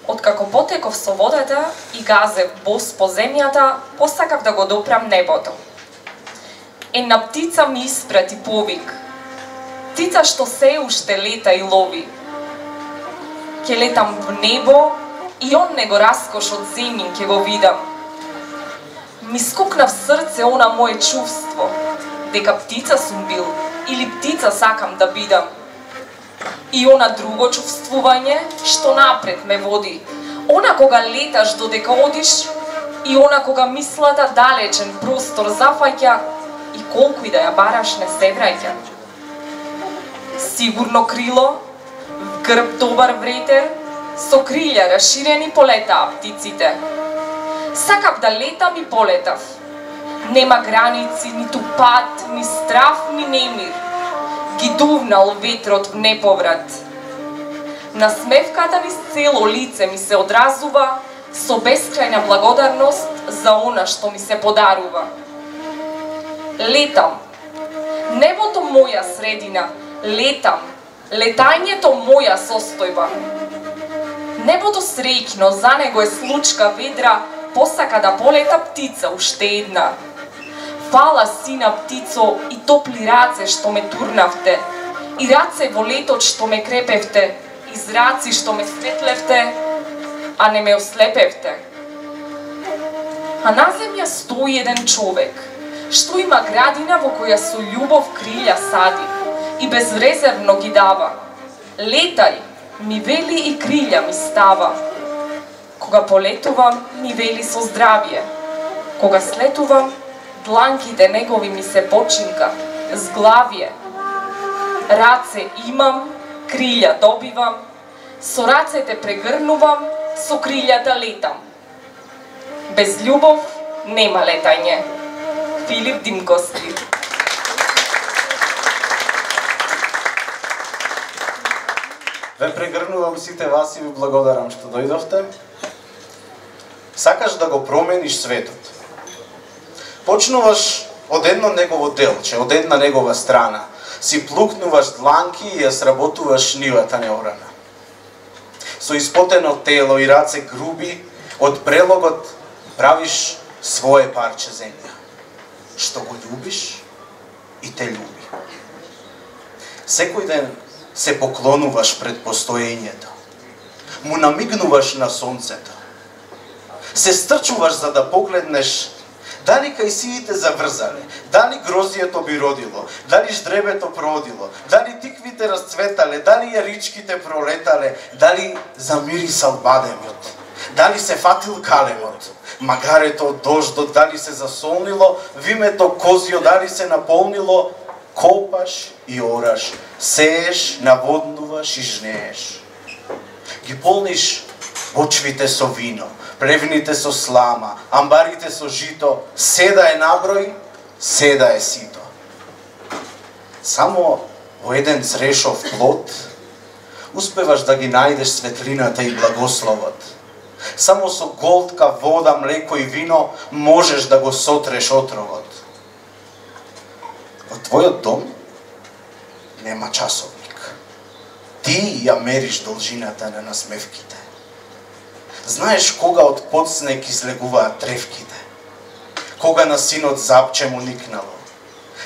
Откако потеков со водата и газев бос по земјата, посакав да го допрам небото. Една птица ми испрати повик. Птица што се уште лета и лови. Ке летам в небо и он него раскош од земјин ке го видам. Ми скокна в срце она моje чувство, дека птица сум бил или птица сакам да бидам. И она друго чувствување што напред ме води, она кога леташ додека одиш и она кога мислата далечен простор зафаќа и колку и да ја бараш не се враќа. Сигурно крило, в грб добар вретер, со крилја расширени полетаа птиците. Сакав да летам и полетав. Нема граници, ниту пат, ни страв, ни немир. Ги дувнал ветрот в неповрат. Насмевката низ цело лице ми се одразува со бескрајна благодарност за она што ми се подарува. Летам. Небото моја средина. Летам. Летањето моја состојба. Небото среќно, за него е случка ведра, посака да полета птица уште една. Фала сина птицо и топли раце што ме турнавте, и раце во летот што ме крепевте, и зраци што ме светлевте, а не ме ослепевте. А на земја стои еден човек, што има градина во која со љубов крилја сади и безрезервно ги дава. Летај, ми вели и крилја ми става. Кога полетувам, ми вели со здравје. Кога слетувам, дланките негови ми се починка, зглавје. Раце имам, крилја добивам, со рацете прегрнувам, со крилјата летам. Без љубов нема летање. Филип Димковски. Ве прегрнувам сите вас и ви благодарам што дојдовте. Сакаш да го промениш светот. Почнуваш од едно негово делче, од една негова страна. Си плукнуваш дланки и ја сработуваш нивата неорана. Со испотено тело и раце груби, од прелогот правиш свое парче земја, што го љубиш и те љуби. Секој ден се поклонуваш пред постоењето. Му намигнуваш на сонцето. Се стрчуваш за да погледнеш дали кајсиите заврзале, дали грозието би родило, дали ждребето продило, дали тиквите расцветале, дали јаричките пролетале, дали замирисал бадемот, дали се фатил калемот, магарето од дождот, дали се засолнило, вимето козио, дали се наполнило, копаш и ораш, сееш, наводнуваш и жнееш. Ги полниш почвите со вино, плевните со слама, амбарите со жито, седа е наброј, седа е сито. Само во еден зрешов плод успеваш да ги најдеш светлината и благословот. Само со голтка, вода, млеко и вино можеш да го сотреш отровот. Во твојот дом нема часовник. Ти ја мериш должината на насмевките. Знаеш кога од подснег излегуваат тревките, кога на синот запче му никнало,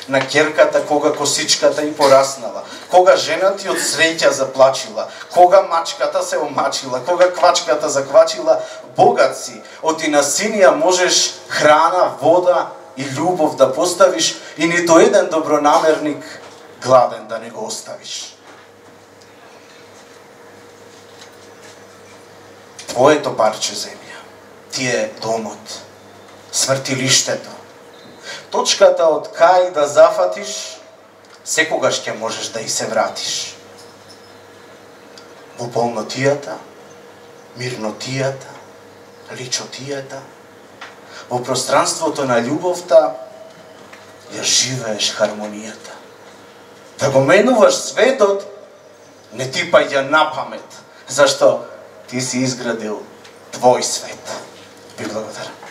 на ќерката кога косичката и пораснала, кога жена ти од среќа заплачила, кога мачката се омачила, кога квачката заквачила, богат си, оти на синија можеш храна, вода и љубов да поставиш и нито еден добронамерник гладен да не го оставиш. Твоето парче земја, ти е домот, свртилиштето, точката од кај да зафатиш, секогаш ќе можеш да и се вратиш. Во полнотијата, мирнотијата, личотијата, во пространството на љубовта, ја живееш хармонијата. Да го менуваш светот, не ти паѓа на памет, зашто ти си изградил твој свет. Ви благодарам.